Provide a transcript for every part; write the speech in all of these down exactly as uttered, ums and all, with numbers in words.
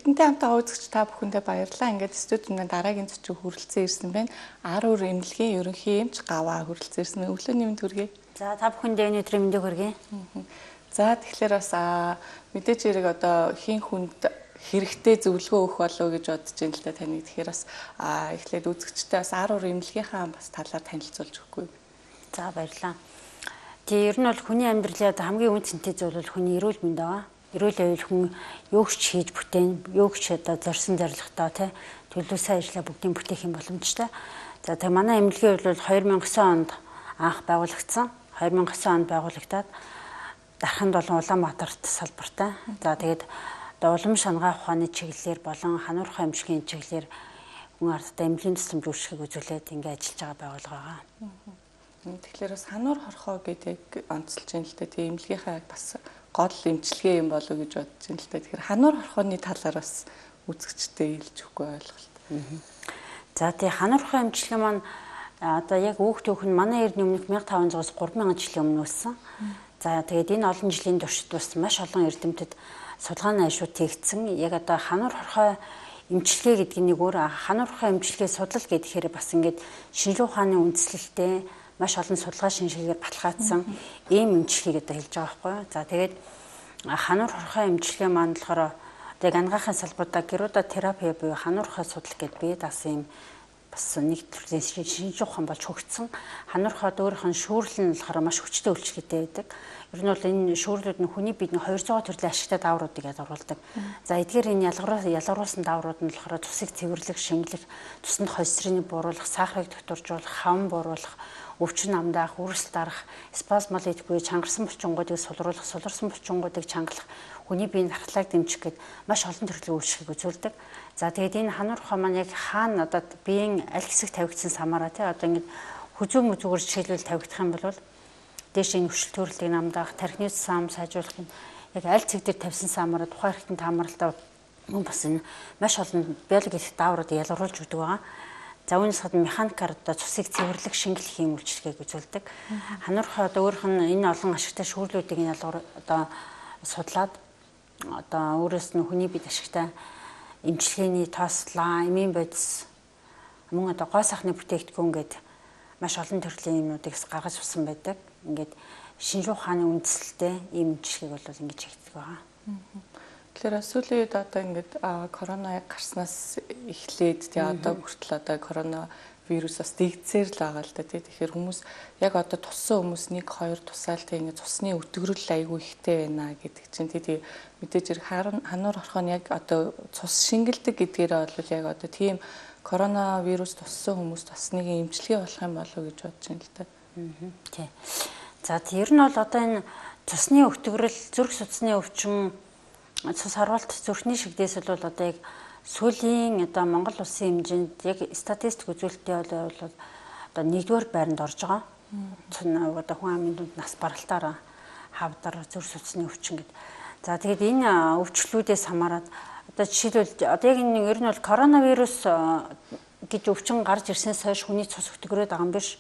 Бидэнтэй хамтаа үзэгч та бүхэндээ баярлалаа. Ингээд студиуд дараагийн зочин хүрэлцэн ирсэн байна. Аруур эмнэлгийн ерөнхий эмч Гаваа хүрэлцэн ирсэн. Өглөөний мэнд хүргэе. За та бүхэндээ энэ өдрийн мэндийг хүргэе. За тэгэхээр бас мэдээж хэрэг одоо хин хүнд хэрэгтэй зөвлөгөө өгөх болов уу гэж бодож байна л да таны. Тэгэхээр бас эхлээд үзэгчтэй бас аруур эмнэлгийнхаа бас талаар танилцуулж өгөхгүй. За баярлалаа. Тэгээ ер нь бол хүний амьдралын хамгийн үнцэнтэй зүйл бол хүний эрүүл мэнд аа. Эрүүл байвал хүн юугч хийж бүтээн, юугч одоо зорьсон зорилготой тий төлөвлөсөн ажлаа бүгдийг бүтээх юм боломжтой. За тэгээ манай эмнэлгийн хувьд бол хоёр мянган онд анх байгуулагдсан. хоёр мянган онд байгуулагдаад дарханд болон Улаанбаатарт салбартай. За тэгээд одоо улам шангаа ухааны чиглэлээр болон хануурхай эмчилгээний чиглэлээр хүн ардтай эмнэлгийн тусламж үйлчлэгийг үзүүлээд ингэ ажиллаж байгаа байгууллага байгаа. Тэгэхээр бас хануур хорхоо гэдэг онцлж байна л да. Тэгээ эмнэлгийнхаа бас гол эмчилгээ юм болов уу гэж бодож байна л да. Тэгэхээр хануур хорхооны талаар бас үзэгчтэй хэлж өгөхгүй ойлголт. За тэгээ хануурхай эмчилгээ маань одоо яг өөх төөх нь манай эрдэнэ өмнөх мянга таван зуус гурван мянган жилийн өмнө үүссэн. За тэгээд энэ олон жилийн туршид бас маш олон эрдэмтэд судалгааны ажлууд хийгдсэн. Яг одоо хануур хорхой эмчилгээ гэдэг нь нэг өөр хануур хорхой эмчилгээ судлал гэхээр бас ингээд шинжлэх ухааны үндэслэлтэй маш олон судалгаа шинжилгээгээр баталгаажсан ийм эмчилгээг одоо хэлж байгаа байхгүй юу. За тэгээд хануур хорхой эмчилгээ маань болохоор яг ангаахын салбарда геруда терапи буюу хануур хорхой судлал гэдээ бие даасан юм бас нэг төрлийн шинжлэх ухаан болж хөгжсөн. Хануур хорхойд өөрийнх нь шүүрлэл нь болохоор маш хүчтэй үйлчлэгтэй байдаг. Ер нь бол энэ шүүрлүүд нь хүний биедний хоёрдугаар төрлийн ашигтай даавруудыг ялгаруулдаг. За эдгээр энэ ялгаруус ялгаруулсан дааврууд нь болохоор цусыг цэвэрлэх, шингэлэх, цуснд холестеринийг бууруулах, сахарыг докторжуулах, хавн бууруулах, өвчин амдаах, үрсэл дарах, спазмол идэхгүй, чангарсан булчингуудыг сулруулах, суларсан булчингуудыг чангалах, хүний биеийн дархлааг дэмжих гэд маш олон төрлийн үйлчлэгийг үзүүлдэг. За тэгээд энэ хануур хорхой маань яг хаана одоо биеийн аль хэсэг тавигдсан самаараа тий одоо ингэ хүзүү мүзүүгээр жишээлбэл тавигдах юм бол дээш энэ өвшил төрөлтийг намдаах, тархины сам сайжруулах нь яг аль цэг дээр тавьсан самаараа тухайн хэрэгтэн таамаглалтаа мөн бас энэ маш олон биологийн дааврууд ялгаруулж өгдөг байгаа. За үүнээс гадна механикаар одоо цусыг цэвэрлэх, шингэлэх юм үйлчлэгийг үзүүлдэг. Хануур хорхой одоо өөрөх нь энэ олон ашигтай шүүрлүүдийг нь ялгар одоо судлаад одоо өөрөөс нь хүний биед ашигтай эмчилгээний тоослоо, эмийн бодис мөн одоо гоо сайхны бүтээгдэхүүн гээд маш олон төрлийн юмнуудыг гаргаж авсан байдаг. Ингээд шинжлэх ухааны үндэслэлтэй ийм эмчилгээг бол ингэж хийгддэг байгаа. Тэгэхээр сүүлийн үед одоо ингээд корона гарснаас эхлээд тий одоо хүртэл одоо корона вирус бас дэгдсээр л байгаа л да тий. Тэгэхээр хүмүүс яг одоо туссан хүмүүс нэг хоёр тусаалтай ингээд цусны өтгөрөл айгүй ихтэй байна гэдэг чинь тий мэдээж хэрэг хануур хорхоо нь яг одоо цус шингэлдэг гэдгээрээ бол яг одоо тийм коронавирус туссан хүмүүст бас нэг эмчилгээ болох юм болов уу гэж бодож байна л да. Тий. За тэр нь бол одоо энэ цусны өтгөрөл, зүрх судасны өвчин, цус харвалт зүрхний шигдээс бол одоо яг сүүлийн одоо Монгол улсын хэмжээнд яг статистик үзүүлэлттэй бол одоо нэгдүгээр байранд орж байгаа. Одоо хүн амын дунд нас баралтаар хавдар, зүрх судасны өвчин гэдэг. За тэгээд энэ өвчлүүдээс хамаарат одоо жишээлбэл одоо яг энэ ер нь бол коронавирус гэж өвчин гарч ирсэнээс хойш хүний цус өтгөрөөд байгаа юм биш.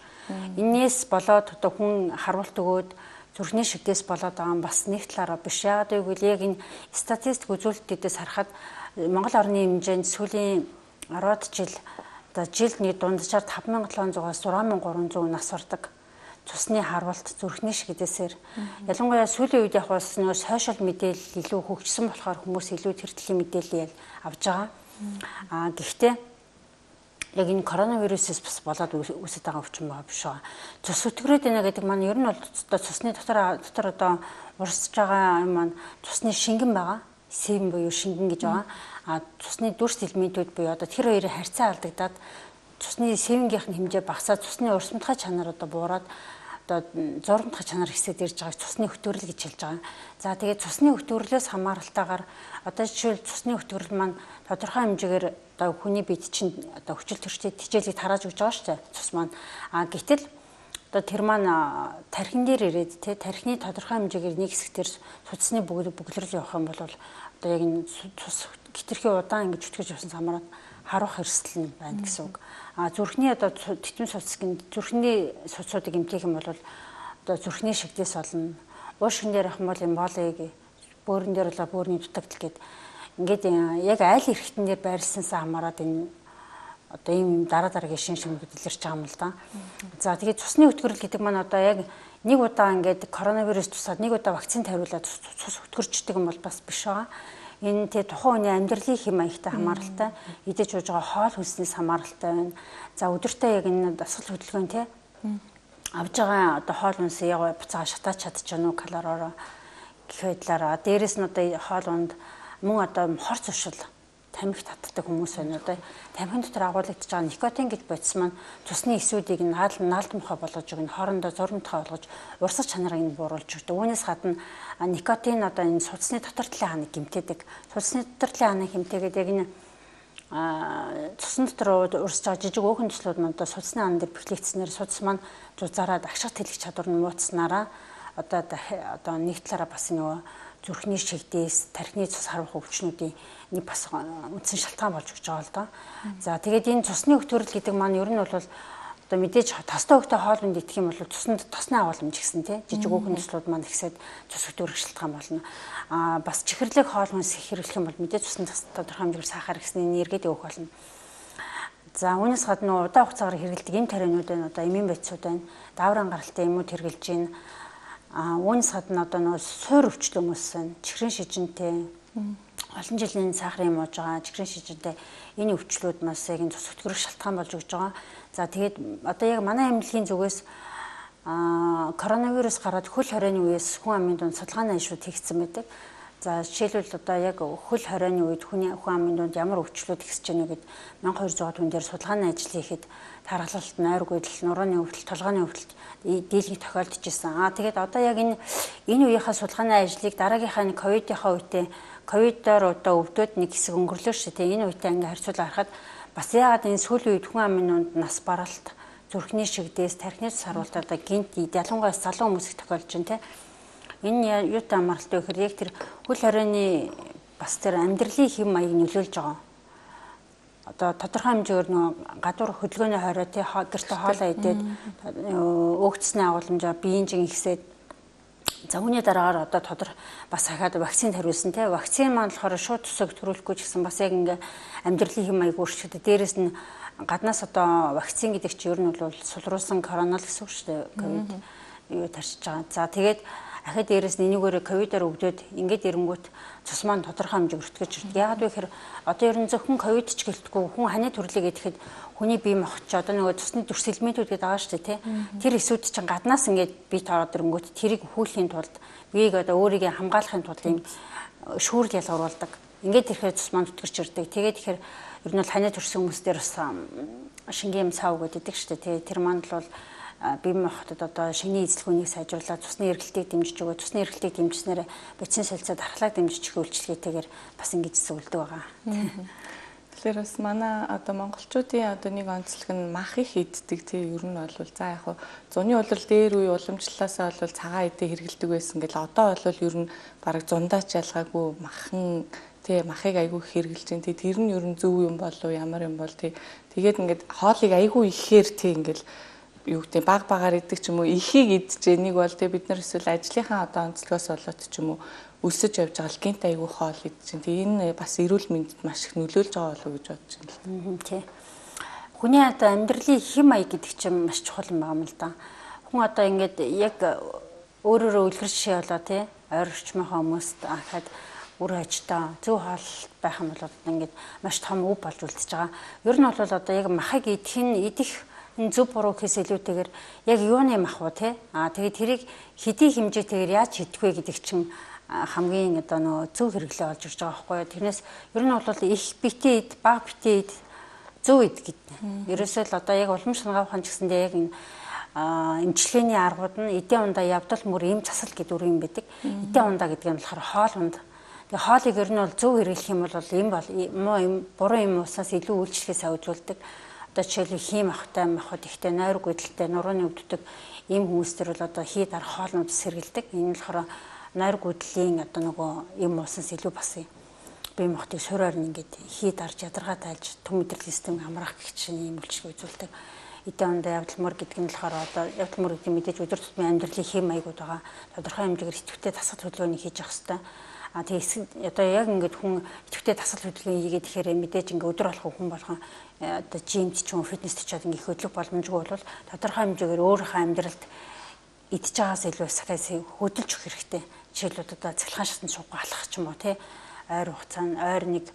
Инээс болоод одоо хүн харвалт өгөөд зүрхний шигдээс болоод байгаа юм бас нэг талаараа биш. Яагаад гэвэл яг энэ статистик үзүүлэлтүүдээс харахад Монгол орны хэмжээнд сүүлийн арваад жил одоо жилд нэг дунджаар таван мянган долоон зугаас зургаан мянган гурван зуун нас ордог цусны харвалт зүрхний шигдээсээр ялангуяа сүүлийн үед яг бас нэг сошиал мэдээлэл илүү хөгжсөн болохоор хүмүүс илүү тэр төрлийн мэдээлэл авж байгаа. Аа гэхдээ яг энэ коронавирусээс бас болоод үүсэж байгаа өвчин байгаа биш байгаа. Цус өтгөрөөд байна гэдэг маань ер нь бол одоо цусны дотор дотор одоо урсж байгаа юм маань цусны шингэн байгаа. Сэм буюу шингэн гэж байгаа. А цусны дүрс элементүүд буюу одоо тэр хоёрын харьцаа алдагдаад цусны сэвэнгийнх нь хэмжээ багасаад цусны урсамтгай чанар одоо буураад одоо зурмтгай чанар хэсэд ирж байгааг цусны өтгөрөл гэж хэлж байгаа. За тэгээд цусны өтгөрлөөс хамааралтайгаар одоо жишээл цусны өтгөрөл маань тодорхой хэмжээгээр одоо хүний биед чинь одоо хүчил төрчтэй хичээлийг тарааж өгч байгаа шүү дээ цус маань. А гэтэл одоо тэр маань тархин дээр ирээд тий тархины тодорхой хэмжээгээр нэг хэсгээр цусны бүглэрэл явах юм бол одоо яг энэ цус хитрхи удаан ингэж өтгөж явсан самараад харух эрсдэл нь байна гэсэн үг. А зүрхний одоо титмын цуцгийн зүрхний цуцуудыг эмтэх юм бол одоо зүрхний шигдээс болно. Уушгин дээр ах юм бол эмболиг, бөөрөн дээр бол бөөрийн дутагдал гэд ингээд яг айл эрхтэн дээр байрласансаа хамаарат энэ одоо ийм дараа дараагийн шин шимүүд илэрч байгаа юм л да. За тэгээд цусны өтгөрөл гэдэг маань одоо яг нэг удаа ингээд коронавирус тусаад нэг удаа вакцин тавиулаад цус өтгөрчдөг юм бол бас биш байгаа. Энэ тэ тухайн хүний амьдралын хэм маягтай хамааралтай, идэж ууж байгаа хоол хүнснээс хамааралтай байна. За өдөртөө яг энэ дасгал хөдөлгөөн тэ авж байгаа одоо хоол хүнс яг буцаага шатаач чадчихна уу калориороо гэх байдлаараа. Дээрээс нь одоо хоол унд мөн одоо хор цушил тамхи татдаг хүмүүс байна. Одоо тамхин дотор агуулгадж байгаа никотин гэж бодис маань цусны эсүүдийг наал наалдмахаа болгож өгнө, хоорондоо зурмтхай болгож урсгал чанарыг нь бууруулж өгдөг. Үүнээс гадна никотин одоо энэ судасны дотор талын ханыг гэмтээдэг. Судасны дотор талын ханыг гэмтээгээд яг энэ цусны дотор урсж байгаа жижиг өөхөн төслүүд маань одоо судасны хан дээр бэхлэгдснээр судас маань зузаараад агших тэлэх чадвар нь мууцснараа одоо одоо нэг талаараа бас нөгөө зүрхний шигдээс тархины цус харвах өвчнүүдийн нэг бас үндсэн шалтгаан болж өгч байгаа л доо. За тэгээд энэ цусны өтгөрөл гэдэг маань ер нь бол одоо мэдээж тостой хөвгтэй хоолнд идэх юм бол цуснд тосны агуулмж гэсэн тий жижиг өөхөн төслүүд маань ихсээд цус өтгөрөх шалтгаан болно. Аа бас чихэрлэг хоол хүнс хэрэглэх юм бол мэдээж цусны тодорхой хэмжээгээр сахар гэсний эргээд өөх болно. За үүнээс гадна удаан хугацаагаар хэрэглэдэг эм тарианууд байна, одоо эмийн байцууд байна, дааврын гаралтай эмүүд хэрэглэж байна. А үүнээс гадна одоо нөгөө суур өвчлөө хүмүүс байна. Чихрийн шижинтэй олон жилийн сахарын юм ууж байгаа чихрийн шижинтэй энэ өвчлүүд маш яг энэ цус өтгөрөх шалтгаан болж өгч байгаа. За тэгээд одоо яг манай эмнэлгийн зүгээс а коронавирус гараад хөл хорионы үеэс хүн амын дунд судалгааны ажлууд хийгдсэн байдаг. За жишээлбэл одоо яг хөл хорионы үед хүний хүн амын дунд ямар өвчлүүд ихсэж байна гэд мянга хоёр зуун хүн дээр судалгааны ажил хийхэд тархалт, нойрог үдэл, нурууны өвдөл, толгойн өвдөлт дийлэнх тохиолдож ирсэн. Аа тэгээд одоо яг энэ энэ үеийнхаа судалгааны ажлыг дараагийнхаа нэг ковидынхаа үедээ ковидоор одоо өвдөд нэг хэсэг өнгөрлөө шүү дээ. Энэ үедээ ингээ харьцуулаад харахад бас яагаад энэ сүүлийн үед хүн амын дунд нас баралт, зүрхний шигдээс, тархины цус харуулт одоо гинт ялангуяа залуу хүмүүс их тохиолдож байна те. Энэ юутай амралтай вэ гэхээр яг тэр хөл хорионы бас тэр амьдралын хэм маяг нөлөөлж байгаа. Одоо тодорхой хэмжээгээр нөгөө гадуур хөдөлгөөний хорой тий гэрте хоолоо идээд өөгцсний агуулмжаа биеийн жин ихсээд за үүний дараагаар одоо тодор бас хахад вакцин хариулсан тий вакцин маань болохоор шууд тусаг төрүүлэхгүй ч гэсэн бас яг ингээ амьдралын хэм маяг өөрчлөлтөд дээрэс нь гаднаас одоо вакцин гэдэг чинь ер нь бол сулруулсан коронавирус гэсэн үг шүү дээ ковид юу тарчиж байгаа. За тэгээд ахад дээрээс нь энийгээрээ ковидоор өвдөд ингээд ирэнгүүт цус маань тодорхой хэмжээгээр өртгөж ирдэг. Яагаад вэ гэхээр одоо ер нь зөвхөн ковид ч гэлтгүй хүн ханы төрлийг идэхэд хүний бие махбод ч одоо нөгөө цусны дүрс элементүүд гэдэг байгаа шүү дээ тий. Тэр эсүүд чинь гаднаас ингээд бие тараад ирэнгүүт тэрийг хүүлэхийн тулд биеийг одоо өөрийгөө хамгаалахын тулд юм шүүрл ялгаруулдаг. Ингээд ирэхээр цус маань өтгөрч ирдэг. Тэгээд тэгэхээр ер нь бол ханы төрс хүмүүсдэр бас шингийн сав гэдэг шүү дээ тий. Тэр маань бол бие махбодод одоо шинийн эзлэгүүнийг сайжруулаад цусны эргэлтийг дэмжиж өгөө. Цусны эргэлтийг дэмжснээр бацин солилцоо дархлааг дэмжиж өгөх үйлчлэгээтэйгээр бас ингэж зөвлөдөг байгаа. Тэгэхээр бас манай одоо монголчуудын одоо нэг онцлог нь мах их иддэг тий ер нь бол за яг хуу зуны улирал дээр үе уламжлалаасаа бол цагаан идэ хэрэгэлдэг байсан гэл одоо бол ер нь бараг зундаач ялгаагүй махан тий махыг айгүй хэрэгэлж дээ тий тэр нь ер нь зөв юм болов ямар юм бол тий тэгээд ингээд хоолыг айгүй ихээр тий ингээд юу гэдэг баг багаар идэх ч юм уу ихийг идчихээ нэг бол тэг бид нар эсвэл ажлынхаа одоо онцлогоос болоод ч юм уу өсөж явж байгаа л гинт айгүй хоол идчихэн. Тэг энэ бас эрүүл мэндэд маш их нөлөөлж байгаа болов уу гэж бодож байна л. Тий. Хүний одоо амьдралын хэм маяг гэдэг чинь маш чухал юм байна л да. Хүн одоо ингээд яг өөрөөрөө үлгэр жишээ болоо тий ойр орчмынхаа хүмүүст ахад үр хажтаа зөв хоол байх юм бол ингээд маш том үе болж үлдчихэж байгаа. Ер нь бол одоо яг махыг идэх нь идэх энэ зөв буруу гэхээс илүүтэйгээр яг юуны мах уу те аа тэгээд тэрийг хэдий хэмжээтэйгээр яаж хийдэг вэ гэдэг чинь хамгийн одоо нөө зөв хэрэглээ олж ирж байгаа байхгүй юу. Тэрнээс ер нь бол их битээ ид баг битээ ид зөв ид гэдэг. Ерөөсөө л одоо яг улам шангаавхан ч гэсэндээ яг энэ эмчилгээний аргууд нь эдийн ундаа явдал мөр эм засал гэдэг үр юм байдаг. Эдийн ундаа гэдэг нь болохоор хоол унд. Тэгээ хоолыг ер нь бол зөв хэрэглэх юм бол эм бол муу эм буруу эм уусаас илүү үйлчлэхээс авжуулдаг. Одоо жишээлбэл хийм ахтай махад ихтэй нойрог үдэлтэй нурууны өвддөг ийм хүмүүс төр бол одоо хий дарах хоолнууд сэргэлдэг. Энэ нь болохоор нойрог үдлийн одоо нөгөө ийм уусаас илүү бас бие махбодыг суураар нь ингээд хий дарж ядаргаа тайлж төм мэдрэлийн систем хамраах гэх чинь ийм үйлчлэг үзүүлдэг. Эдийн ундаа явдал мөр гэдэг нь болохоор одоо явдал мөр гэдэг нь мэдээж өдөр тутмын амьдралын хэм маягууд байгаа. Тодорхой хэмжээгээр идэвхтэй дасгал хөдөлгөөнийг хийж явах хэрэгтэй. А тэгээ одоо яг ингээд хүн идэвхтэй дасгал хөдөлгөөн хийгээд тэгэхээр мэдээж ингээд өдөр болгон хүн болгон одоо жимд ч юм фитнест ч гэдэг их хөдлөх боломжгүй бол тодорхой хэмжээгээр өөрийнхөө амьдралд идж байгаас илүү стресс хөдөлж өгөх хэрэгтэй. Жишээлбэл одоо цахилгаан шатанд суугаа алхах ч юм уу тий. Ойр хугацаанд ойр нэг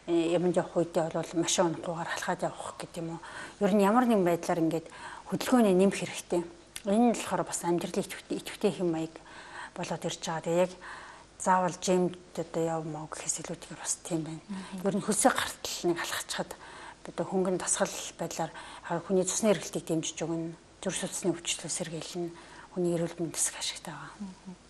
юмд явах үедээ бол машин унахгүйгээр алхаад явах гэдэг юм уу. Ер нь ямар нэгэн байдлаар ингээд хөдөлгөөний нэмэх хэрэгтэй. Энэ нь болохоор бас амьдралын идэвхтэй хэм маяг болоод ирж байгаа. Тэгээ яг заавал жимд одоо явмаа гэхээс илүүтэйгээр бас тийм байна. Ер нь хөлсөө гартал нэг алхацхад одоо хөнгөн дасгал байдлаар хүний цусны эргэлтийг дэмжиж өгнө. Зүрх судасны өвчлөлөө сэргийлнэ. Хүний эрүүл мэндэд ашигтай байгаа.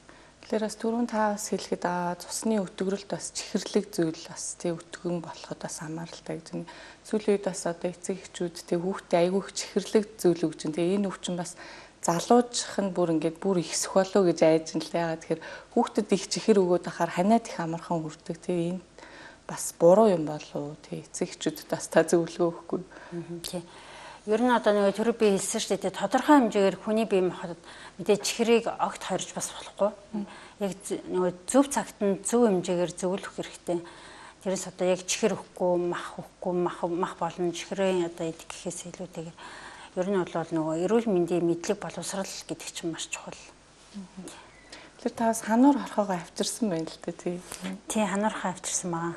Тэгэхээр бас түрүүн та бас хэлэхэд аа цусны өтгөрөлт бас чихэрлэг зүйл бас тий өтгөн болоход бас хамааралтай гэж байна. Сүүлийн үед бас одоо эцэг эхчүүд тий хүүхдээ айгүй их чихэрлэг зүйл өгч байна. Тэгээ энэ өвчин бас залуужих нь бүр ингээд бүр ихсэх болов гэж айж ин л яагаад тэгэхээр хүүхдэд их чихэр өгөөд ахаар ханиад их амархан хүрдэг. Тэгээ энэ бас буруу юм болов тий эцэг эхчүүдэд бас та зөвлөгөө өгөхгүй. Тий. Ер нь одоо нэг түрүү би хэлсэн шүү дээ тодорхой хэмжээгээр хүний бие махбод мэдээ чихрийг огт хорж бас болохгүй. Яг нөгөө зөв цагт нь зөв хэмжээгээр зөвлөх хэрэгтэй. Тэрээс одоо яг чихэр өгөхгүй, мах өгөхгүй, мах мах болон чихрийн одоо идэх гэхээс илүүтэйгээр ер нь бол нөгөө эрүүл мэндийн мэдлэг боловсрал гэдэг чинь маш чухал. Тэр та бас хануур хорхоогоо авчирсан байна л дээ тий. Тий хануур хорхоо авчирсан байгаа.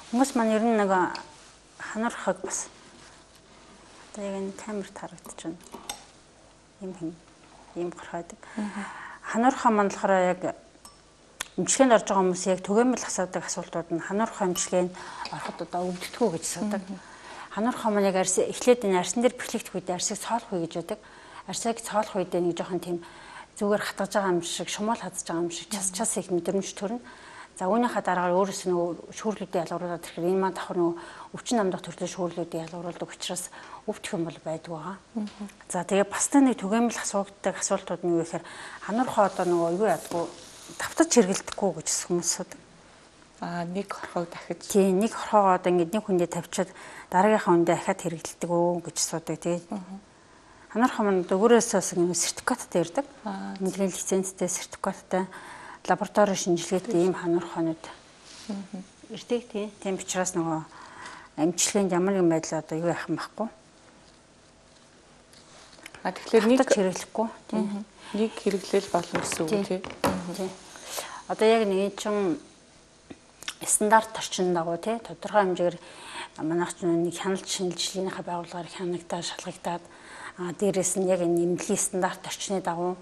Хүмүүс маань ер нь нэг хануур хорхоог бас яг энэ камерт харагдаж байна. Ийм юм ийм гарахдаг. Хануурхаа мандлахаараа яг эмчилгээнд орж байгаа хүмүүс яг түгээмэл асуудаг асуултууд нь хануурхаа эмчилгээнд ороход одоо өвддөггүй гэж асуудаг. Хануурхаа маань яг арс эхлээд энэ арсан дээр бэхлэгдэх үед арсыг цоолох үе гэж байдаг. Арсыг цоолох үед нэг жоохон тийм зүгээр хатгаж байгаа юм шиг, шумаал хадж байгаа юм шиг час час их мэдрэмж төрнө. За үүнийхээ дараагаар өөрөөс нь шүүрлүүдийн ялгаруулаад ирэхээр энэ маань давхар нөгөө өвчин намдах төрлийн шүүрлүүдийн ялгаруулдаг учраас өвдөх юм бол байдаг байгаа. За тэгээ бас та нэг түгээмэл асуудаг асуултууд нь юу гэхээр хануурхаа одоо нөгөө юу ядгүй давтаж хэрэгэлдэхгүй гэж хүмүүс асуудаг. Аа нэг хорхоог дахиж. Тий нэг хорхоогоо одоо ингэ нэг хүндээ тавьчаад дараагийнхаа хүндээ ахаад хэрэгэлдэг өө гэж асуудаг тий. Хануурхаа маань өөрөөсөөс ингэ сертификаттай ирдэг. Мэдрэлийн лицензтэй сертификаттай лабораторийн шинжилгээтэй ийм хануурхаанууд ирдэг тий. Тийм учраас нөгөө эмчилгээнд ямар нэгэн байдлаа одоо юу яах юм байхгүй. А тэгэхээр нэг хэрэглэхгүй тий. Нэг хэрэглээл болно гэсэн үг тий. Тий. Одоо яг нэг чинь стандарт орчинд дагуу тий тодорхой хэмжээгээр манайх ч нэг хяналт шинжилгээнийхээ байгууллагаар хянагдаад шалгагдаад а дээрээс нь яг энэ нэмлэлийн стандарт орчны дагуу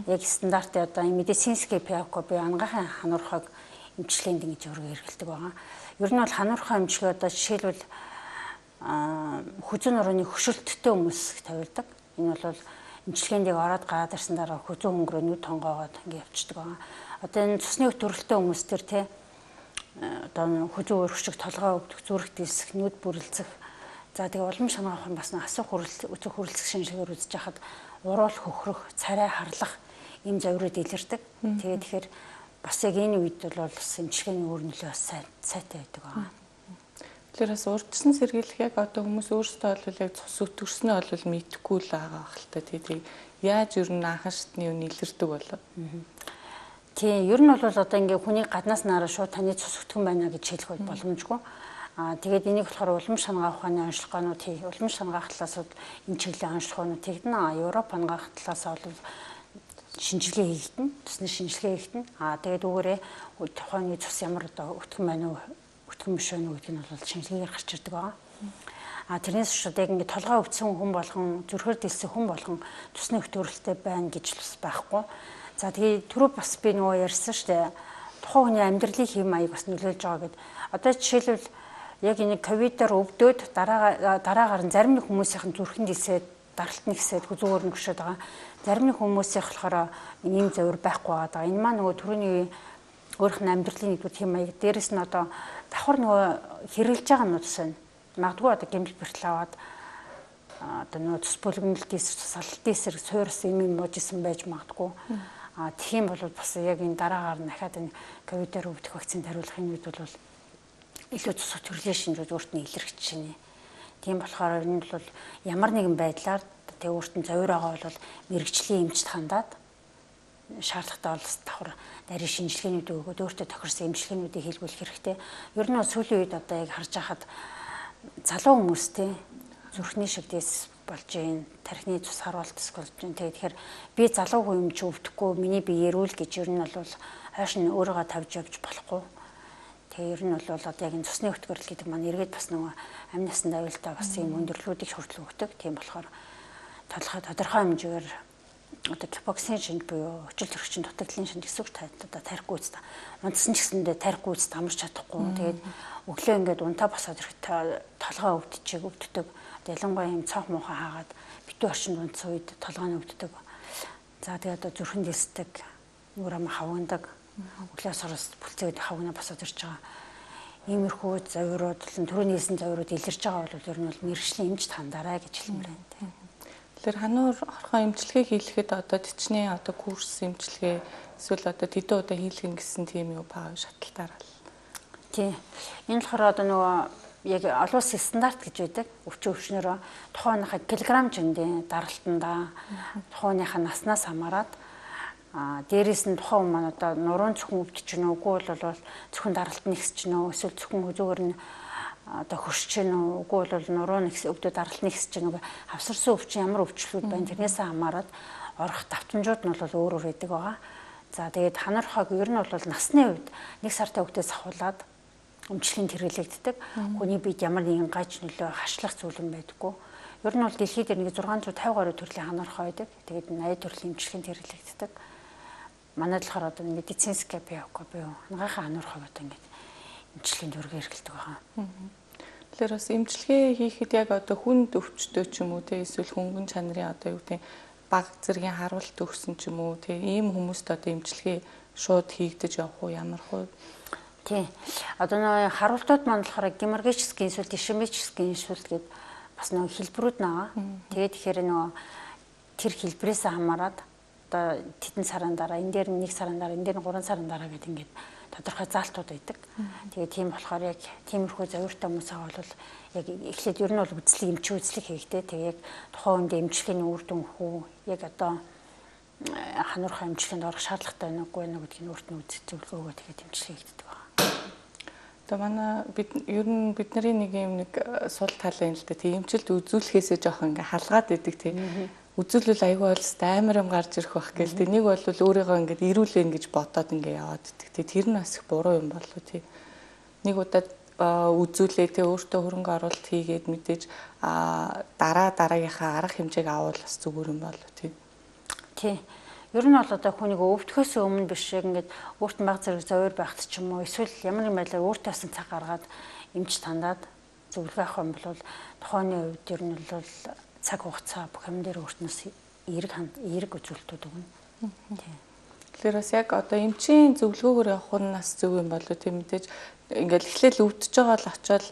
яг стандартын одоо медицинский пиако би ангахын хануурхаг эмчилгээнд ингэж өргө хэрэгэлдэг байгаа. Ер нь бол хануурхаа эмчилгээ одоо жишээлбэл хүзүүн нурууны хөшөлттэй хүмүүс тавилдаг. Энэ бол эмчилгээнд ороод гараад ирсэн дараа хүзүүн хөнгөрөө нүд тонгоогоод ингэ явчихдаг байгаа. Одоо энэ цусны өтөрөлттэй хүмүүс төр те одоо хүзүүн өргөшиг толгой өвдөх, зүрх диск, нүд бүрэлцэх. За тэгээ улам шанаах бас асуух хүрэл өцөг хүрэлцэх шинжилгээр үзэж хахад уруул хөхрөх, царай харлах ийм завирууд илэрдэг. Тэгээд тэгэхээр бас яг энэ үед бол бас эмчилгээний өөр нөлөө бас сайтай байдаг байгаа. Тэгэхээр бас урдсан сэргийлэх яг одоо хүмүүс өөрсдөө бол яг цус өтгөрснөө бол мэдэхгүй л байгаа хэлтэй. Тэгээд яаж ер нь анхан шатны үн илэрдэг болоо. Тийм, ер нь бол одоо ингээ хүний гаднаас нараа шууд таны цус өтгөн байна гэж хэлэх боломжгүй. Аа тэгээд энийг болохоор улам шангаах ухааны онцлогоонууд хий. Улам шангаах талаас энэ чиглэлийн онцлогоонууд тэгнэ. Европ хангаах талаас бол шинжилгээ хийгдэн, цусны шинжилгээ хийгдэн. Аа тэгээд үүгээрээ тухайн цус ямар одоо өтгөн байна уу, өтгөн биш байна уу гэдгийг нь бол шинжилгээгээр гарч ирдэг байгаа. Аа тэрнээс шууд яг ингээ толгой өвдсөн хүн болгон, зүрхэр дэлсэн хүн болгон цусны өтгөрөлттэй байна гэж бас байхгүй. За тэгээд түрүү бас би нөгөө ярьсан шүү дээ. Тухайн хүний амьдралын хэм маяг бас нөлөөлж байгаа гэд. Одоо жишээлбэл яг энэ ковидоор өвдөөд дараа дараагаар нь зарим нэг хүмүүсийн зүрхэнд исээд даралт нэгсээд хүзүүгээр нь гүшээд байгаа. Зарим нэг хүмүүсийн болохоор ийм завир байхгүй байгаа. Энэ маань нөгөө түрүүний өөрийнх нь амьдралын нэгдүгээр хэм маяг дээрэс нь одоо давхар нөгөө хэрэгжилж байгаа нь бас байна. Магадгүй одоо гэмтэл бэртэл аваад одоо нөгөө цус бүлгэмэлтээс салалтын эсрэг суурс юм юм уужсэн байж магадгүй. А тийм бол бас яг энэ дараагаар нь дахиад энэ ковидоор өвдөх вакцины хариулахын үед бол илүү цус төрлийн шинжүүд өөрт нь илэрхэж шинэ. Тийм болохоор энэ бол ямар нэгэн байдлаар тэг өөрт нь завир байгаа бол мэрэгжлийн эмчт хандаад шаардлагатай бол давхар нарийн шинжилгээнүүд өгөөд өөртөө тохирсон эмчилгээнүүдийг хийлгүүлэх хэрэгтэй. Ер нь бол сүүлийн үед одоо яг харж байхад залуу хүмүүстэй зүрхний шигдээс болж байна. Тархины цус харуултас болж байна. Тэгэхээр би залуу хүн юм чи өвдөхгүй миний биеэр үл гэж ер нь бол хойш нь өөрийгөө тавьж явж болохгүй. Тэгээ ер нь бол одоо яг энэ цусны өтгөрл гэдэг маань эргээд бас нөгөө амь насанд аюултай бас юм өндөрлүүдийг хүртэл өгдөг. Тийм болохоор тодорхой тодорхой хэмжээгээр одоо гипоксийн шинж буюу өчил төрөгчийн дутагдлын шинж гэсэн үг одоо тарихгүй үст. Унтсан ч гэсэндээ тарихгүй үст амарч чадахгүй. Тэгээд өглөө ингээд унтаа босоод ирэхэд толгой өвдчихээг өвддөг. Ялангуяа юм цонх муухан хаагаад битүү орчинд унтсан үед толгой нь өвддөг. За тэгээд одоо зүрхэн дэсдэг, нүрэ ам хавгнадаг. Өглөөс хороос бүлцээд хавгнаа босоод ирж байгаа. Иймэрхүү завирууд, түрүүний хэлсэн завирууд илэрж байгаа бол ер нь бол мэрэгжлийн эмч тандаарай гэж хэлмээр байна. Тэгэхээр хануур орхон эмчилгээ хийлгэхэд одоо төчний одоо курс эмчилгээ эсвэл одоо тэдэн удаа хийлгэн гэсэн тийм юу баа шатлалтаар л. Тий. Энэ болохоор одоо нөгөө яг олон улсын стандарт гэж байдаг. Өвчин өвчнөрөө тухайныхаа килограмм жиндийн даралтандаа тухайныхаа наснаас хамаарат а дээрээс нь тухайн хүн маань одоо нуруунд зөвхөн өвдөж гэнэ үгүй бол зөвхөн даралт нэгсэж гэнэ эсвэл зөвхөн зүгээр нь одоо хөрсөж гэнэ үгүй бол нуруу нэгс өвдөө даралт нэгсэж гэнэ хавсарсан өвчин ямар өвчлүүд байна тэрнээс хамаарат орох давтамжууд нь бол өөр өөр байдаг байгаа. За тэгээд ханархаг ер нь бол насны үед нэг сартай хөвгтөөс ахуулаад өмчлөлийн хэрэглэгддэг. Хүний биед ямар нэгэн гаж нөлөө хашлах зүйл юм байдаггүй. Ер нь бол дэлхийд нэг зургаан зуун тавь гаруй төрлийн ханархаа байдаг. Тэгээд eighty төрлийн эмчилгээнд хэрэглэгддэг. Манай болохоор одоо медицинская биоко буюу хангайхаа ханархаа гэдэг ингээд эмчилгээнд өргө хэрэглэдэг байгаа. Тэгэхээр бас эмчилгээ хийхэд яг одоо хүнд өвчтөө ч юм уу те эсвэл хөнгөн чанарын одоо юу гэдэг баг зэргийн харуулт өгсөн ч юм уу те ийм хүмүүст одоо эмчилгээ шууд хийгдэж явах уу ямар хөө. Тий. Одоо нөө харуултууд маань болохоор геморрагический инсульт, ишемический инсульт гэдэг бас нөө хэлбэрүүд байгаа. Тэгээд тэгэхээр нөө тэр хэлбэрээс хамаарат одоо тэдэн сарын дараа энэ дээр нэг сарын дараа энэ дээр гурван сарын дараа гэдэг ингээд тодорхой заалтууд байдаг. Тэгээд тийм болохоор яг тиймэрхүү завиртай хүмүүсээ бол яг эхлээд ер нь бол үзлэг эмч үзлэг хийгдээ. Тэгээд яг тухайн үндэ эмчилгээний үр дүн хүү яг одоо хануурхай эмчилгээнд орох шаардлагатай байна уугүй байна гэдгийг өөрт нь үзэж зөвлөгөөгөө тэгээд эмчилгээ хийгддэг байна. Одоо манай бид ер нь бидний нэг юм нэг сул тал юм л да. Тийм эмчилт үзүүлэхээсээ жоох ингээ халгаад идэг тийм. Үзүүлэл аягүй бол амар юм гарч ирэх байх гээл тийм. Нэг бол өөрийгөө ингээ ирүүлэн гэж бодоод ингээ яваад идэг тийм. Тэр нь бас их буруу юм болов тийм. Нэг удаа үзүүлээ тийм өөртөө хөрөнгө оруулалт хийгээд мэдээж дараа дараагийнхаа арга хэмжээг авал бас зүгээр юм болов тийм. Тий. Ер нь бол одоо хүнийг өвдөхөөс өмнө биш яг ингээд өөрт нь баг зэрэг зовёр байхт ч юм уу эсвэл ямар нэг байдлаар өөртөө асан цаг гаргаад эмч тандаад зөвлөгөө авах юм бол тухайны үед ер нь бол цаг хугацаа бүх юм дээр өөртнөөс эерэг эерэг үзүүлэлтүүд өгнө. Тий. Тэгэхээр бас яг одоо эмчийн зөвлөгөөгөөр явах нь нас зөв юм болов тийм мэдээж ингээд эхлээл өвдөж байгаа л очиод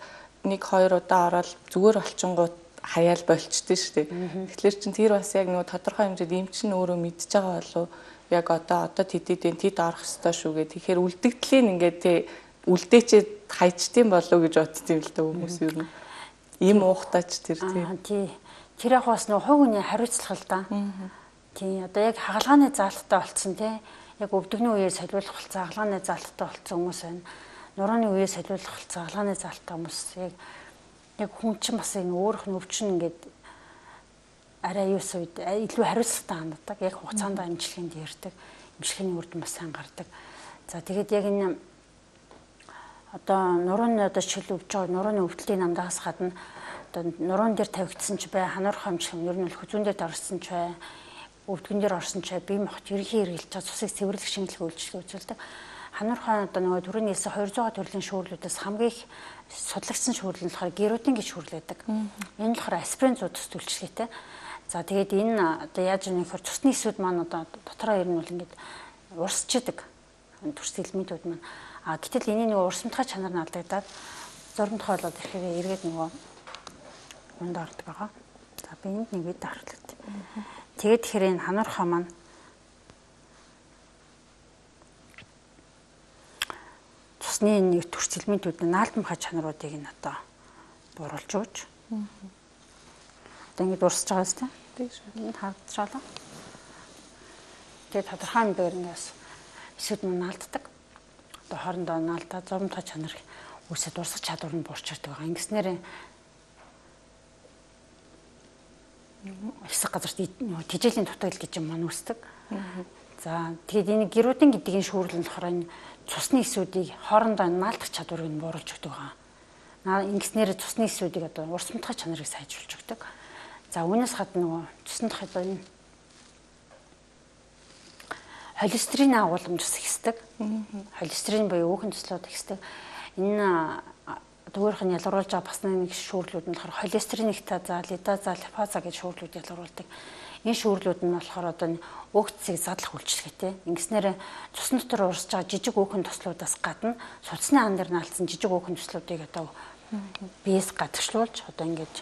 нэг хоёр удаа ороод зүгээр олчингууд хаяал болчтой шүү дээ. Тэгэхээр чин тэр бас яг нөгөө тодорхой хэмжээд эмч нь өөрөө мэдж байгаа болов яг одоо одоо тэдэд тэд орох ёстой шүү гэх. Тэгэхээр үлдэгдлийн ингээд тий үлдээчээ хайчдсан болов гэж бодсон юм л да хүмүүс юу юм. Им уухтаач тэр тий. Тэр яг бас нөгөө хувь хүний хариуцлага л да. Тий одоо яг хагалгааны заалттай болцсон тий. Яг өвдөгний үеэр солиулах болцсон хагалгааны заалттай болцсон хүмүүс байна. Нурууны үеэр солиулах болцсон хагалгааны заалттай хүмүүс яг яг хүн чинь бас энэ өөрөх нь өвчин ингээд арай юус үед илүү хариуцлагатай ханддаг. Яг хугацаанд эмчилгээнд ярьдаг. Эмчилгээний үр дүн бас сайн гардаг. За тэгээд яг энэ одоо нурууны одоо шил өвж байгаа нурууны өвдөлтийн намдаас гадна одоо нуруун дээр тавигдсан ч бай, хануурхай эмчилгээ ер нь бол хүзүүн дээр орсон ч бай, өвдгөн дээр орсон ч бай, бие махбод ерөнхий хэрэгжилж байгаа цусыг цэвэрлэх шинжилгээ үйлчилгээ үзүүлдэг. Хануурхай одоо нөгөө түрүүний хэлсэн two hundred төрлийн шүүрлүүдээс хамгийн их судлагдсан шүүрэл нь болохоор герудин гэж шүүрлэдэг. Энэ нь болохоор аспирин зүү төс үйлчлэгээтэй. За тэгээд энэ одоо яаж юм нөхөр цусны эсүүд маань одоо дотроо ер нь бол ингээд урсчдаг. Төрс элементүүд маань. А гэтэл энэ нөгөө урсамтгай чанар нь алдагдаад зурмт хоолоод ирэхээр эргээд нөгөө унд ордог байгаа. За би энд нэг вид харлагд. Тэгээд тэгэхээр энэ хануурхай маань цусны нэг төрс элементүүд наалдамхай чанаруудыг нь одоо бууруулж өгч. Одоо ингэ дурсаж байгаа зү? Тийм шүү. Энд хавцраалаа. Тэгээд тодорхой хэмжээгээр ингээс эсүүд нь наалддаг. Одоо хоорондоо наалдаад зовлонтой чанар үүсэд урсгах чадвар нь буурчирдаг байгаа. Ингэснээр хэсэг газарт тэжээлийн дутагдал гэж юм маань үүсдэг. За тэгээд энэ герүүдийн гэдгийг шүүрлэн болохоор энэ цусны эсүүдийг хоорондоо наалдах чадварыг нь бууруулж өгдөг байгаа. Ингэснээр цусны эсүүдийг одоо урс мутгах чанарыг сайжруулж өгдөг. За үүнээс гадна нөгөө цусны дахь одоо энэ холестерин агуулмж ихсдэг. Холестерин буюу өөхөн төслүүд ихсдэг. Энэ дүүрх нь ялгаруулж байгаа бас нэг шүүрлүүд нь болохоор холестеринектаза, лидаза, липаза гэж шүүрлүүд ялгаруулдаг. Энэ шүүрлүүд нь болохоор одоо өөх цэцгийг задлах үйлчилгээтэй. Ингэснээр цусны дотор урсж байгаа жижиг өөхөн төслүүдээс гадна судасны ан дээр наалтсан жижиг өөхөн төслүүдийг одоо биес гадагшлуулж одоо ингэж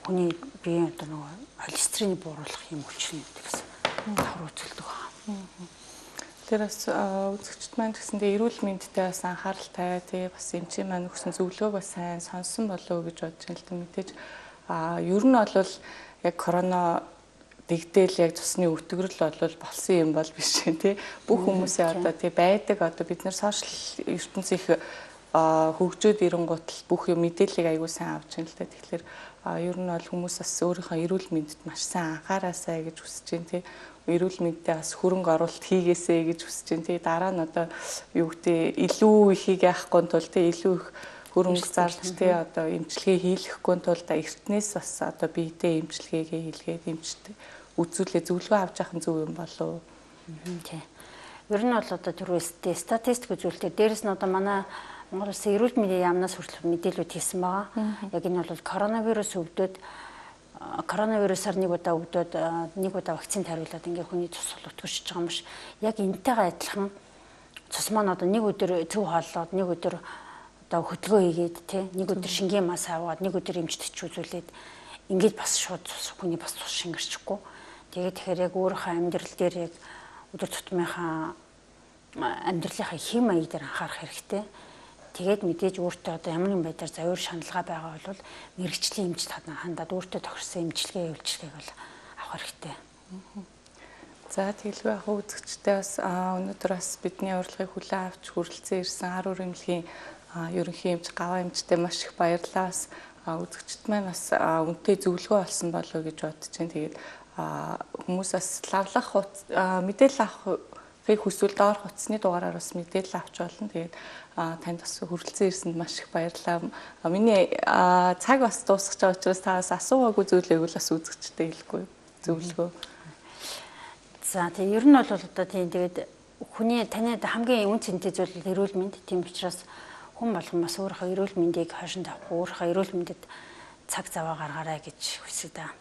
хүний биеийн одоо нөгөө холестеринийг бууруулах юм хүчин гэсэн давхар үзүүлдэг байна. Тэр бас үзэгчд маань гэсэндээ эрүүл мэндтэй бас анхааралтай тий бас эмчийн маань өгсөн зөвлөгөөг бас сайн сонсон болов уу гэж бодож байна л да. Мэдээж а ер нь бол яг корона дэгдээл яг цусны өвтгөрөл бол болсон юм бол биш тий. Бүх хүмүүсийн одоо тий байдаг одоо бид нар сошиал ертөнц их хөгжөөд ирэнгуут л бүх юм мэдээллийг аягүй сайн авч байна л да. Тэгэхээр ер нь бол хүмүүс бас өөрийнхөө эрүүл мэндэд маш сайн анхаараасай гэж хүсэж байна тий. Эрүүл мэндтэй бас хөрөнгө оруулалт хийгээсэй гэж хүсэж байна тий. Дараа нь одоо юу гэдэг илүү ихийг яахгүй тул тий илүү их хөрөнгө зарж тий одоо эмчилгээ хийлгэхгүй тул эртнээс бас одоо биедээ эмчилгээгээ хийлгээд эмчтэй үзүүлээ зөвлөгөө авч явах нь зөв юм болов. Тий. Ер нь бол одоо түрүү статистик үзүүлэлтээр дээрэс нь одоо манай Монгол Улсын эрүүл мэндийн яамнаас хүртэл мэдээлүүд хийсэн байгаа. Яг энэ бол коронавирус өвдөд коронавирусаар нэг удаа өвдөд нэг удаа вакцины хариулаад ингээ хүний цус өтгөрч байгаа юм биш. Яг энтэйгээ адилхан цус маань одоо нэг өдөр зөв хооллоод нэг өдөр одоо хөдөлгөөн хийгээд тий нэг өдөр шингийн мас аваад нэг өдөр эмчтэж үзүүлээд ингээд бас шууд цус хүний бас цус шингэрчихгүй. Тэгээд тэгэхээр яг өөрийнхөө амьдрал дээр яг өдөр тутмынхаа амьдралынхаа хэм маяг дээр анхаарах хэрэгтэй. Тэгээд мэдээж өөртөө одоо ямар нэгэн байдлаар завьр шаналгаа байгаа бол мэрэгчлийн эмчилт хандаад өөртөө тохирсон эмчилгээ үйлчилгээг бол авах хэрэгтэй. За тэгэлгүй ах үзэгчтэй бас өнөөдөр бас бидний урилгыг хүлээн авч хүрэлцэн ирсэн ар үрэмлэгийн ерөнхий эмч гаваа эмчтэй маш их баярлалаа. Бас үзэгчд маань бас үнэтэй зөвлөгөө олсон болов уу гэж бодож байна. Тэгээд хүмүүс бас лавлах мэдээлэл авахыг хүсвэл доор хутасны дугаараар бас мэдээлэл авч болно. Тэгээд танд бас хүрэлцэн ирсэнд маш их баярлалаа. Миний цаг бас дуусах гэж байгаа учраас та бас асуугаагүй зүйлээг бол бас үзэгчтэй хэлэхгүй зөвлөгөө. За тийм ер нь бол одоо тийм тэгээд хүний танид хамгийн үн цэнтэй зүйл эрүүл мэнд. Тийм учраас хүн болгон бас өөрийнхөө эрүүл мэндийг хойшин тавих, өөрийнхөө эрүүл мэндэд цаг заваа гаргаарай гэж хүсэж байна.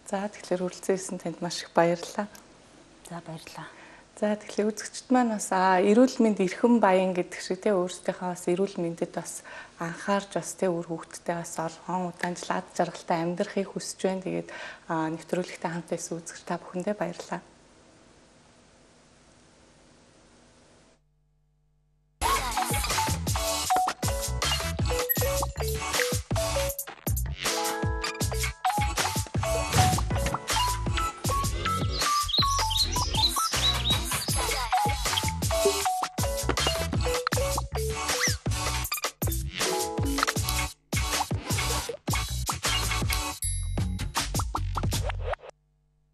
За тэгэхээр хүрэлцэн ирсэн танд маш их баярлалаа. За баярлалаа. За тэгэхээр үзэгчд маань бас эрүүл мэнд эрхэм баян гэдэг шиг те өөрсдийнхөө бас эрүүл мэндэд бас анхаарч бас те өөр хүүхдтэй бас олон удаанч лад жаргалтай амьдрахыг хүсэж байна. Тэгээд нэвтрүүлэгтээ хамт байсан үзэгч та бүхэндээ баярлалаа.